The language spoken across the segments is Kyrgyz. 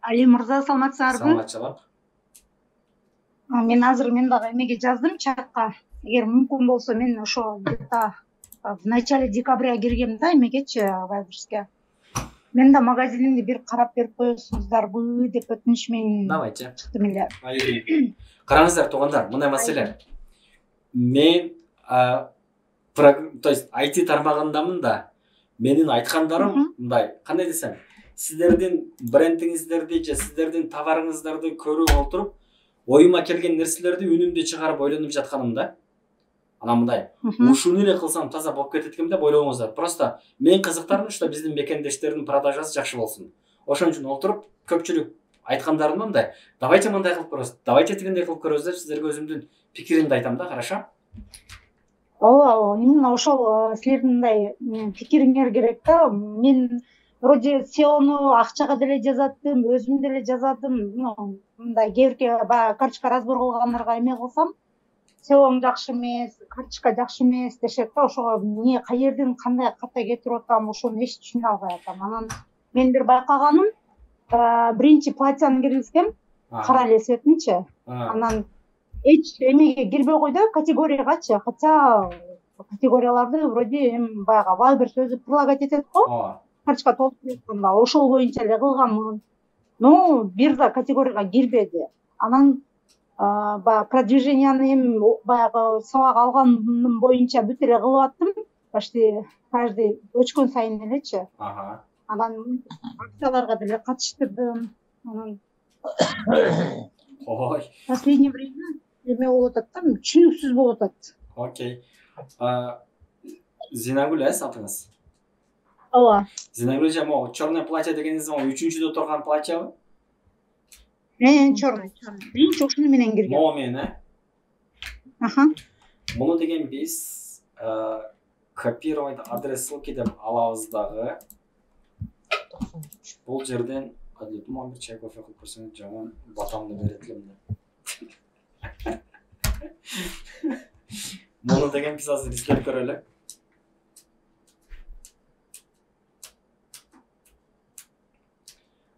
Али мырза, саламатсыздарбы? Саламатчылык. Мен азыр дагы эмеге жаздым чатка. Эгер мүмкүн болсо мен ошо где-то в начале декабря киргем да эмегечи, Вайберске. Мен да магазинимди бир карап берип коесуңуздарбы деп өтүнүч менен Давайте. чыктым эле. Караңыздар туугандар, мындай маселе. Мен то есть IT тармагындамын да. Менин айткандарым мындай, кандай десем, сиздердин брендиңиздерди же сиздердин товарыңыздарды көрүп олтуруп, оюма келген нерселерди үнүмдү чыгарып ойлонуп жатканым да. Анан мындай, ушуну эле кылсам таза болуп кетет экен деп ойлогоңуздар. Просто мен кызыктарым что биздин мекендештердин продажасы жакшы болсун. Ошон үчүн олтуруп көпчүлүк айткандарым мындай, давайте мындай кылып көрөбүз, давайте тигиндей кылып көрөбүз деп сиздерге өзүмдүн пикиримди айтам да, хорошо? Ооба, именно ошол силердин мындай пикириңер керек да. Мен вроде SEOну акчага деле жазаттым, өзүм деле жазатым. Мындай кээ баягы карточка разбор кылгандарга эме кылсам, SEOң жакшы эмес, карточка жакшы эмес дешет да. Ошого эмне, каерден кандай ката кетирип атам, ошону эч түшүнө албай атам. Анан мен бир байкаганым, биринчи платьяны киргизгем, кара элесетинчи. Анан эч эмеге кирбей койду, категориягачы. Хотя категорияларды вроде баягы Вайберс өзү прилагать этет го. Карточка толтуруп атканда ошол боюнча эле кылганмын. Но бир да категорияга кирбеди. Анан баягы продвиженияны баягы сабак алганым боюнча бүт эле кылып аттым. Почти каждый өчкөн сайын элечи. Анан акцияларга деле катыштырдым. Анан последнее время эме болуп атат да, түшүнүксүз болуп атат. Окей. Зинагүл атыңыз? Ооба. Зинагүл же могу черное платье дегениңиз могу 3-чүдө турган платьябы? Черный. Биринчи ошону менен кирген. Могу менен, Муну деген биз копировать адрес ссылки деп алабыз дагы. Бул жерден мага бир чай кофе кылып берсеңиз, жаман батамды берет элем да. Муну деген биз азыр издеп көрөлү.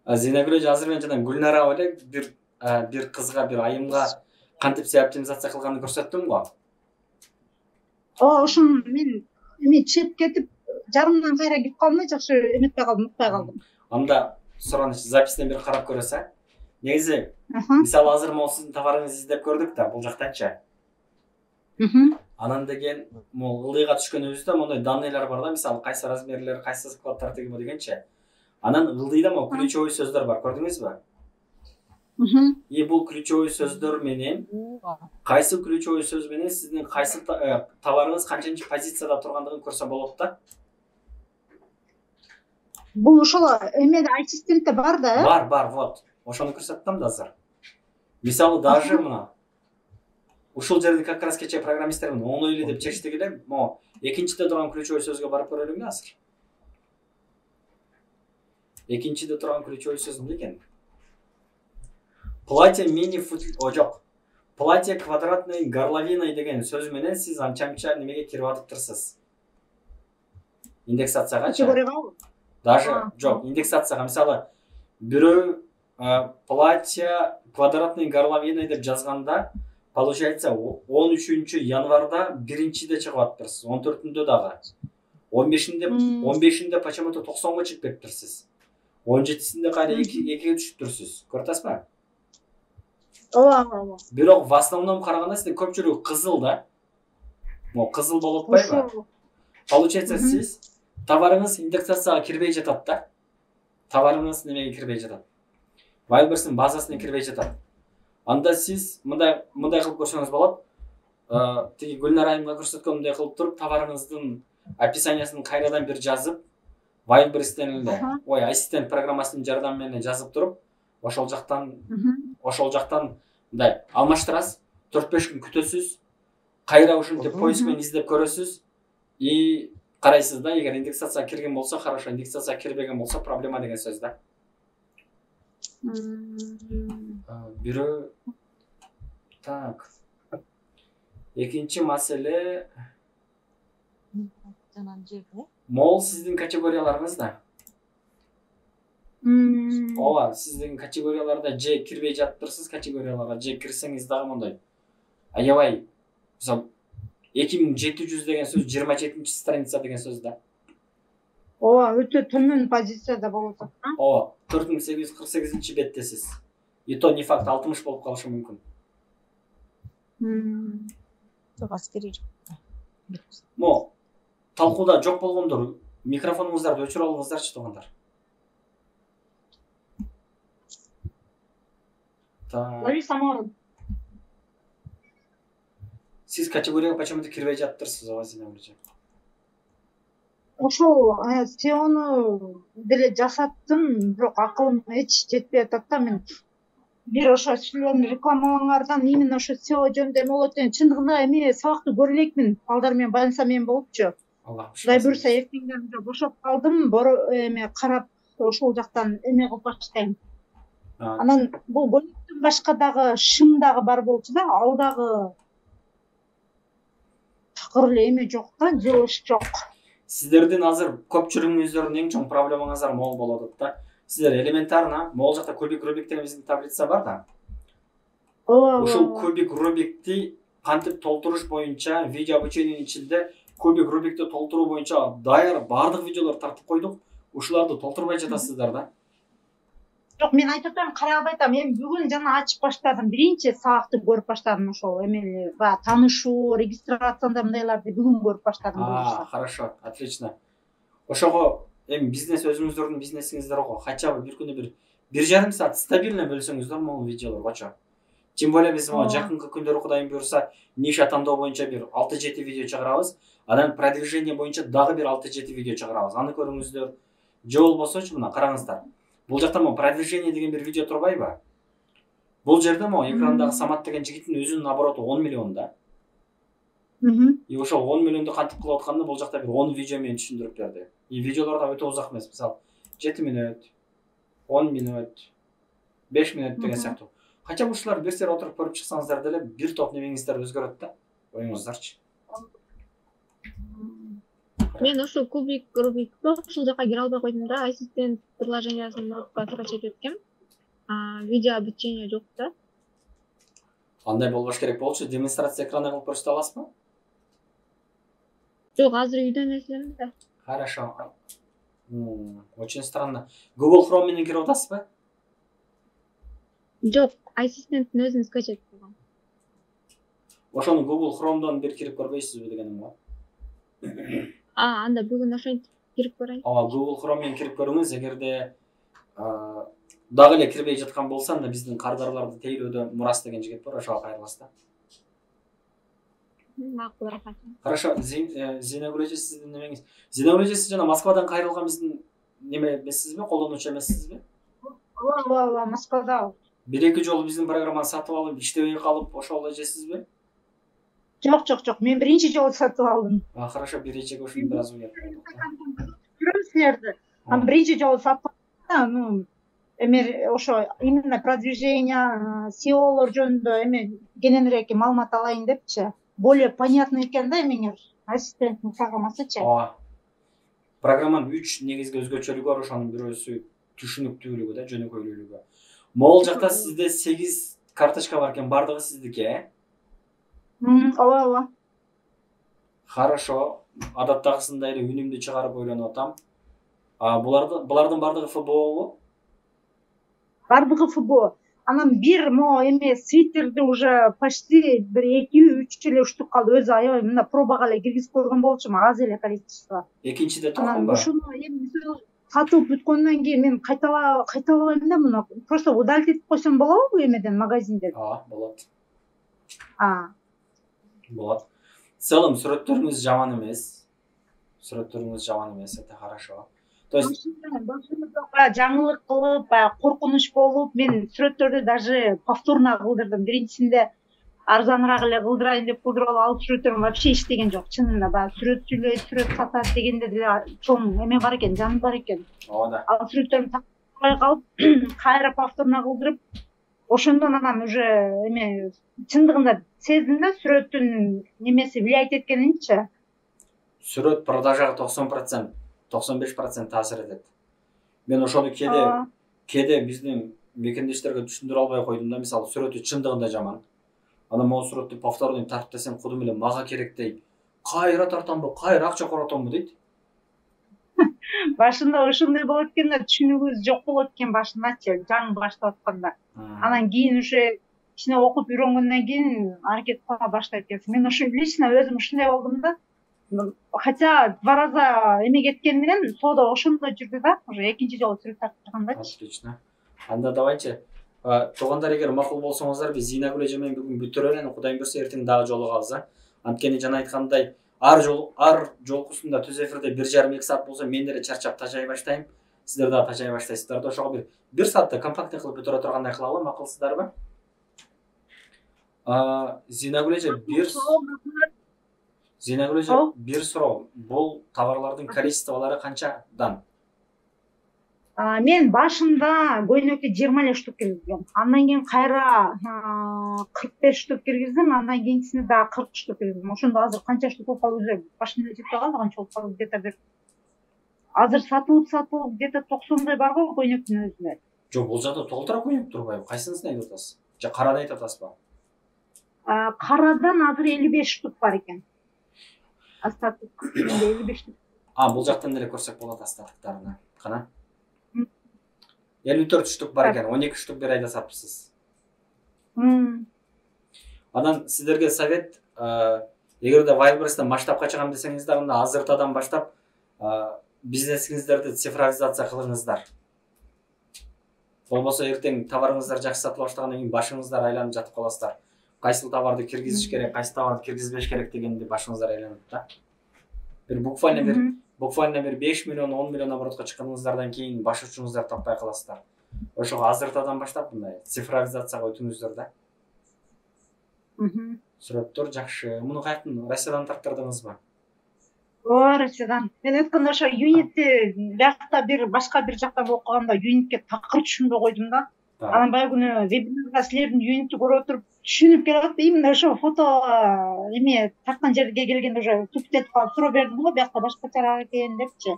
Зинагүл азыр мен жана Гүлнара эле бир кызга, бир айымга кантип SEO оптимизация кылганын көрсөттүм го. Ошону мен эме чыгып кетип, жарымдан кайра кирип калдым, жакшы эметпей калдым, укпай калдым. Анда сураныч запистен бир карап көрөсүз. Негизи, мисалы азыр могу сиздин товарыңызды издеп көрдүк да, бул жактанчы. Анан деген могу ылдыйга түшкөнүбүздө мондай данныйлар бар да, мисалы кайсы размерлер, кайсы складтар тегиби дегенчи. Анан ылдыйда могу ключевой сөздөр бар, көрдүңүзбү? И бул ключевой сөздөр менен кайсы ключевой сөз менен сиздин кайсы товарыңыз канчынчы позицияда тургандыгын көрсө болот да. Бул ошол эмеде ассистентте бар да? Бар, вот. Ошону көрсөттүм да азыр. Мисалы даже мына ушул жерде как раз кече программисттер оңой эле деп чечтик эле, могу экинчиде турган ключевой сөзгө барып көрөлүңү азыр. Экинчиде турган ключевой сөз эмне экен? Платье мини жок. Платье квадратной горловиной деген сөз менен сиз анча-мынча немеге кирип атыптырсыз. Индексациягачы. Даже жок, индексацияга мисалы бирөө платье квадратной горловиной деп жазганда, получается 13 январда биринчиде чыгып атыптырсыз, 14-үндө дагы. 15-inde почему-то 90го чыгып кетиптирсиз. 17-синде кайра 2-ге түшүптүрсүз. Көрүп атасызбы? Ооба. Бирок в основном караганда сизде көпчүлүгү кызыл да. Могу кызыл болуп атпайбы? Получается сиз товарыңыз индексацияга кирбей жатат да. Товарыңыз немеге кирбей жатат. Вайберстин базасына кирбей жатат. Анда сиз мындай кылып көрсөңүз болот. Тиги Гүлнара айымга көрсөткөндөй кылып туруп, товарыңыздын описаниясын кайрадан бир жазып, Вайберстен эле, ассистент программасынын жардамы менен жазып туруп, ошол жактан мындай алмаштырасыз, 4-5 күн күтөсүз, кайра ушинтип поиск менен издеп көрөсүз и карайсыз да, эгер индексацияга кирген болсо хорошо, индексацияга кирбеген болсо проблема деген сөз да. Бирөө так. Экинчи маселе могул сиздин категорияларыңыз да. ооба, сиз деген категорияларда же кирбей жатыптырсыз, категорияларга же кирсеңиз дагы мондай аябай, мисалы 2700 деген сөз 27-чи страница деген сөз да. ооба, өтө төмөн позицияда болуп атат. Ооба, 4848-чи беттесиз. И то не факт 60 болуп калышы мүмкүн. Жок, аскери жок. Мо талкууда жок болгондор, микрофонуңуздарды өчүрүп алыңыздарчы туугандар. Лариса Самарова. Сиз категорияга почему-то кирбей жатыптырсыз, ооба, Зина эже. Ошол SEOну деле жасаттым, бирок акылым эч жетпей атат да. Мен бир ошо силердин рекламаларыңардан именно ошо SEO жөнүндө эме болот экен. Чындыгында эми сабакты көрө элекмин. Балдар менен байланса мен болупчу. Кудай буйруса эртеңден бошоп калдым, эме карап ошол жактан эме кылып баштайм. Анан бул бөлүктөн башка дагы шым дагы бар болчу да, ал дагы такыр эле эме жок да, жылыш жок. Сиздердин азыр көпчүлүгүңүздөрдүн эң чоң проблемаңыздар могул болуп атат да. Сиздер элементарно могул жакта кубик Рубик деген биздин таблица бар да. Ушул кубик Рубикти кантип толтуруш боюнча видео обучениянын ичинде кубик Рубикти толтуруу боюнча даяр баардык видеолорду тартып койдук. Ушуларды толтурбай жатасыздар да. Жок, мен айтып атам, карай албай атам. Мен бүгүн жана ачып баштадым. Биринчи сабакты көрүп баштадым, ошол эмели баягы таанышуу, регистрацияда мындайларды бүгүн көрүп баштадым. Хорошо, отлично. Ошого эми бизнес өзүңүздөрдүн бизнесиңиздер го. Хотя бы бир күнү 1,5 саат стабильно бөлсөңүздөр могул видеолоргочо. Тем более биз могу жакынкы күндөрү Кудайым буйруса ниша тандоо боюнча бир 6-7 видео чыгарабыз. Анан продвижение боюнча дагы бир 6-7 видео чыгарабыз. Аны көрүңүздөр. Же болбосочу мына караңыздар. Бул жакта могу продвижение деген бир видео турбайбы? Бул жерде могу экрандагы Самат деген жигиттин өзүнүн обороты 10 миллион да. И ошол 10 миллионду кантип кылып атканда бул жакта бир 10 видео менен түшүндүрүп берди. И видеолор да өтө узак эмес. Мисалы 7 мүнөт, 10 мүнөт, 5 мүнөт деген сыяктуу. Хотя ушулар бир сер отуруп көрүп чыксаңыздар деле бир топ немеңиздер өзгөрөт да. Оюңуздарчы. Мен ошол кубик Рубикти ушул жака кире албай койдум да, ассистент приложениясын ноутпадка чечип өткөм. Видео обучение жок да. Андай болбош керек болчу. Демонстрация экраны кылып көрсөтө аласызбы? Жок, азыр үйдөн эслем да. Хорошо. Очень странно. Google Chrome менен кирип атасызбы? Жок, ассистенттин өзүн скачать кылгам. Ошону Google Chrome'дон бир кирип көрбөйсүзбү дегеним го. Анда бүгүн ошентип кирип көрөйүн. Google Chrome менен кирип көрүңүз. Эгерде дагы эле кирбей жаткан болсо, анда биздин кардарларды тейлөөдө Мурас деген жигит бар, ошого кайрыласыз да. Макул, рахмат. Хорошо, Зинагүл эже, сиздин немеңиз. Зинагүл эже, сиз жана Москвадан кайрылган биздин неме эмессизби, колдонуучу эмессизби? Ооба, Москвада. 1-2 жолу биздин программаны сатып алып, иштебей калып, ошол эжесизби? Жок, мен биринчи жолу сатып алдым. Хорошо, бир эжеге ушуну бир аз уят. Көрөм силерди. Биринчи жолу сатып алдым. Эме ошо именно продвижение, SEOлор жөнүндө эме кененирээк маалымат алайын депчи. Более понятно экен да эмеңер. Ассистенттин программасычы. Программанын 3 негизги өзгөчөлүгү бар, ошонун бирөөсү түшүнүктүүлүгү да, жөнөкөйлүүлүгү. Могул жакта сизде 8 карточка бар экен, бардыгы сиздики, э? Ооба. Хорошо. Адаттагысындай эле үнүмдү чыгарып ойлонуп атам. Булардын бардыгы ФБОбу? Бардыгы ФБО. Анан бир эме свитерди уже почти бир 2-3 эле уштуп калды. Өзү аябай мына пробага эле киргизип көргөн болчумун, аз эле количество. Экинчиде турганбы? Анан ошону эми сатып бүткөндөн кийин мен кайталабайм да муну. Просто удалить этип койсом болобу эмеден, магазинден? Болот. Болот. В целом сүрөттөрүңүз жаман эмес. Это хорошо. То есть жаңылык кылып, коркунуч болуп, мен сүрөттөрдү даже повторно кылдырдым. Биринчисинде арзаныраак эле кылдырайын деп кылдырып алып сүрөттөрүм вообще иштеген жок. Чынында баягы сүрөт сатат дегенде деле чоң эме бар экен, жан бар экен. Ооба. Ал сүрөттөрүм такпай калып, кайра повторно кылдырып, ошондон анан уже эме чындыгында сездим да сүрөттүн немеси влиять эткенинчи. Сүрөт продажага 90%, 95% таасир этет. Мен ошону кээде биздин мекендештерге түшүндүрө албай койдум да, мисалы сүрөтү чындыгында жаман. Анан могу сүрөттү повторный тарт десем, кудум эле мага керек дейт. Кайра тартамбы, кайра акча коротомбу дейт. Башында ошондой болот экен да, түшүнүгүбүз жок болот экен башындачы, жаңы баштап атканда. Анан кийин уже кичине окуп үйрөнгөндөн кийин аракет кыла баштайт экенсиң. Мен ошо лично өзүм ушундай болдум да. Хотя 2 раза эме кеткен менен соода ошондой жүрдү да, уже экинчи жолу сүрөт тартып тургандачы. Отлично. Анда давайчы. Туугандар, эгер макул болсоңуздар, биз Зинагүл эже менен бүгүн бүтүрө эле, Кудайым буйрса эртең дагы жолугабыз. Анткени жана айткандай, ар жолкусунда түз эфирде 1,5-2 саат болсо, мен деле чарчап тажай баштайм. Сиздер дагы тажай баштайсыздар да. Ошого бир саатта компактный кылып бүтүрө тургандай кылалы, макулсыздарбы? Зинагүл эже, бир суроо. Бул товарлардын количестволору канчадан? Мен башында көйнөккө 20 эле штук киргизгем. Андан кийин кайра 45 штук киргиздим, андан кийинкисине дагы 40 штук киргиздим. Ошондо азыр канча штук болуп калды, башында жетпей калды, канча болуп калды, где-то бир азыр сатылып где-то 90дай бар го көйнөктүн өзүндө. Жок, бул жакта толтура көйнөк турбайбы? Кайсынысын айтып атасыз? Же карады айтып атасызбы? Карадан азыр 55 штук бар экен. Астатык 55 штук. Бул жактан деле көрсөк болот астатыктарына. Кана? 54 штук бар экен, 12 штук бир айда сатыпсыз. Анан сиздерге совет, эгерде Wildberries'тен масштабка чыгам десеңиздер, анда азыртадан баштап бизнесиңиздерди цифровизация кылыңыздар. Болбосо эртең товарыңыздар жакшы сатыла баштагандан кийин башыңыздар айланып жатып каласыздар. Кайсыл товарды киргизиш керек, кайсы товарды киргизбеш керек дегенди башыңыздар айланат да. Бир буквально бир 5 миллион, 10 миллион оборотко чыкканыңыздардан кийин баш учуңуздар таппай каласыздар. Ошого азыртадан баштап мындай цифровизацияга өтүңүздөр да. Сүрөттөр жакшы. Муну каяктан, Россиядан тарттырдыңызбы? Россиядан. Мен өткөндө ошо юнитти биякта башка бир жактан окуганда юнитке такыр түшүнбөй койдум да. Анан баягы күнү вебинарда силердин юнитти көрүп отуруп түшүнүп келип, именно ошо фото эме тарткан жерге келгенде уже туптетип калып суроо бердим го, биякта башкачараак экен депчи.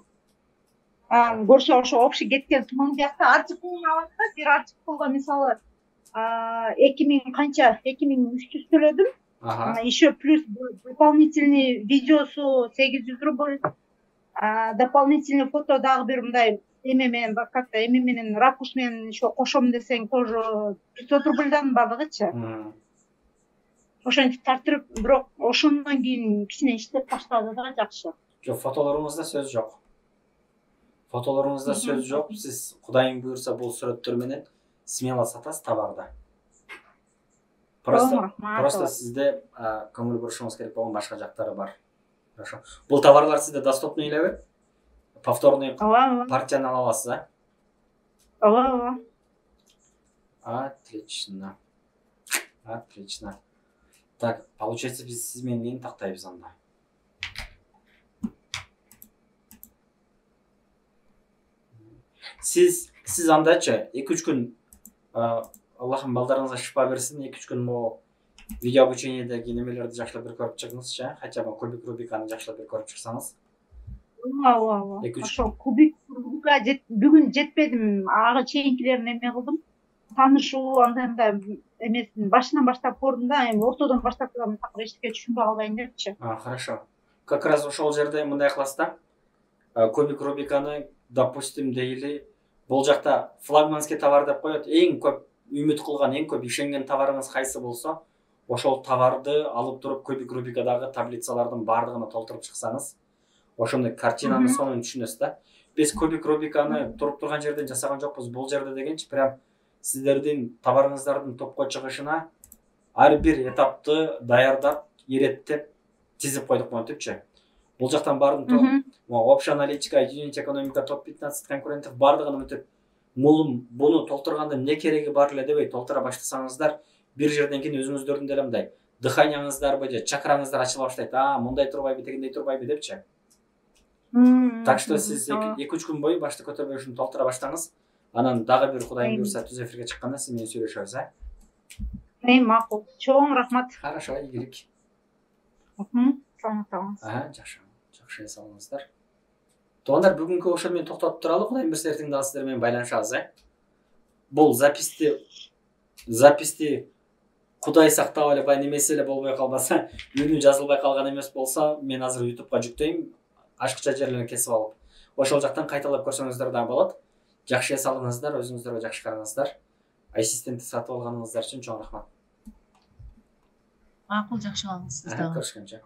Көрсө ошо общий кеткен сумманы биякта артикулун алат да, бир артикулга мисалы 2300 төлөдүм. Еще плюс дополнительный видеосу 800 рубль, дополнительный фото дагы бир мындай эме менен, как-то эме менен, ракурс менен еще кошом десең тоже 500 рубльдан бардыгычы. Ошентип тартырып, бирок ошондон кийин кичине иштеп баштады да, жакшы. Жок, фотолоруңузда сөз жок. Фотолоруңузда сөз жок. Сиз Кудайым буйрса бул сүрөттөр менен смело сатасыз товарды. Просто сизде көңүл бурушуңуз керек болгон башка жактары бар. Хорошо. Бул товарлар сизде доступный элеби? Повторный партияны ала аласыз, Ооба. Отлично. Так, получается, биз сиз менен эмнени тактайбыз анда? Сиз андачы 2-3 күн Аллахым балдарыңызга шифа берсин, 2-3 күн могу видео обучениедеги немелерди жакшылап бир көрүп чыгыңызчы, хотя бы кубик Рубиканы жакшылап бир көрүп чыксаңыз. Ооба. Ошо кубик Рубика бүгүн жетпедим, ага чейинкилерин эме кылдым. Таанышуу, анда эмесин башынан баштап көрдүм да, эми ортодон баштап такыр эчтеке түшүнбөй калбайын депчи. Хорошо. Как раз ошол жерде мындай кыласыз да. Кубик Рубиканы, допустим, дейли бул жакта флагманский товар деп коет. Эң көп үмүт кылган, эң көп ишенген товарыңыз кайсы болсо, ошол товарды алып туруп Кубик Рубикадагы таблицалардын бардыгына толтуруп чыксаңыз, ошондой картинанын сонун түшүнөсүз да. Биз Кубик Рубиканы туруп турган жерден жасаган жокпуз. Бул жерде дегенчи прям сиздердин товарыңыздардын топко чыгышына ар бир этапты даярдап, иреттеп, тизип койдук монтипчи. Бул жактан бардым, общая аналитика, юнит экономика, топ-15 конкурентов бардыгын өтүп, буну толтурганда эмне кереги бар эле дебей толтура баштасаңыздар, бир жерден кийин өзүңүздөрдүн деле мындай дыханияңыздарбы же чакраңыздар ачыла баштайт. Мындай турбайбы, тегиндей турбайбы депчи. Так что сиз 2-3 күн бою башты көтөрбөй ушуну толтура баштаңыз. Анан дагы бир Кудайым буйрса түз эфирге чыкканда сиз менен сүйлөшөбүз, Макул. Чоң рахмат. Хорошо, ийгилик. Саламатсыз. Жакшы эс алыңыздар. Туугандар, бүгүнкү ошол менен токтотуп туралы. Кудайым буйрса эртең дагы сиздер менен байланышабыз, бул записти Кудай сактап эле баягы немеси эле болбой калбаса, үнү жазылбай калган эмес болсо, мен азыр YouTubeга жүктөйм, ашыкча жерлерин кесип алып. Ошол жактан кайталап көрсөңүздөр да болот. Жакшы эс алыңыздар, өзүңүздөргө жакшы караңыздар. Ассистентти сатып алганыңыздар үчүн чоң рахмат. Макул, жакшы калыңыз сиз дагы. Көрүшкөнчө.